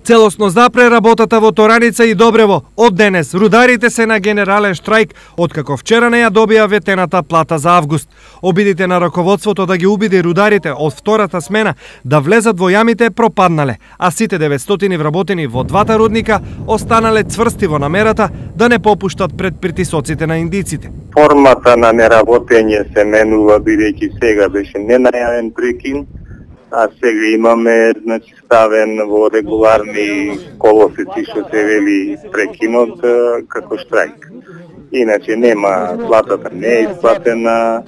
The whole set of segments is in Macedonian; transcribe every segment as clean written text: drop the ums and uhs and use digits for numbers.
Целосно запре работата во Тораница и Добрево. Од денес рударите се на генерален штрајк, откако вчера не ја добија ветената плата за август. Обидите на раководството да ги убеди рударите од втората смена да влезат во јамите пропаднале, а сите 900 вработени во двата рудника останале цврсти во намерата да не попуштат пред притисоците на индиците. Формата на неработење се менува, бидејќи сега беше ненајавен прекин, а сега имаме ставен во регуларни колосеци што се вели прекинот како штрајк. Иначе нема, платата не е исплатена.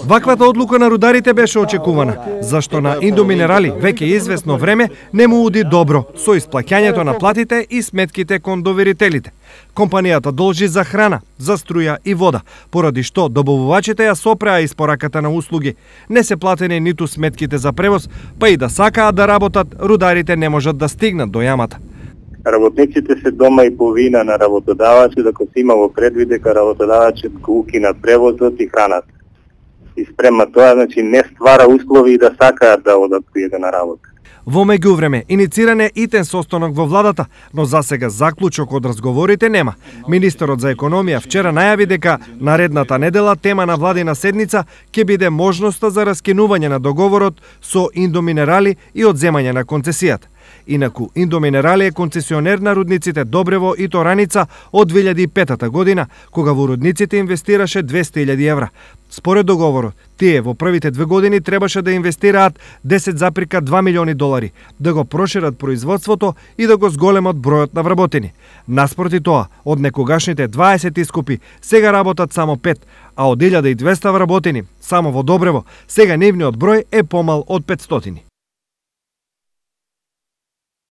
Ваквата одлука на рударите беше очекувана, зашто на Индоминерали веќе известно време не му уди добро со исплаќањето на платите и сметките кон доверителите. Компанијата должи за храна, за струја и вода, поради што добавувачите ја сопреа испораката на услуги. Не се платени ниту сметките за превоз, па и да сакаат да работат, рударите не можат да стигнат до јамата. Работниците се дома и по вина на работодавачот, дека се имало предвид дека работодавачот го укина превозот и храната. И спрема тоа, не ствара услови да сакаат да одат на работа. Во меѓувреме, инициран е итен состанок во владата, но засега заклучок од разговорите нема. Министерот за економија вчера најави дека наредната недела тема на владина седница ќе биде можноста за раскинување на договорот со Индоминерали и одземање на концесијата. Инаку, Индоминерали е концесионер на рудниците Добрево и Тораница од 2005 година, кога во рудниците инвестираше 200.000 евра. Според договорот, тие во првите 2 години требаше да инвестираат 10,2 милиони долари, да го прошират производството и да го зголемат бројот на вработени. Наспроти тоа, од некогашните 20 искупи, сега работат само 5, а од 1200 вработени, само во Добрево, сега нивниот број е помал од 500.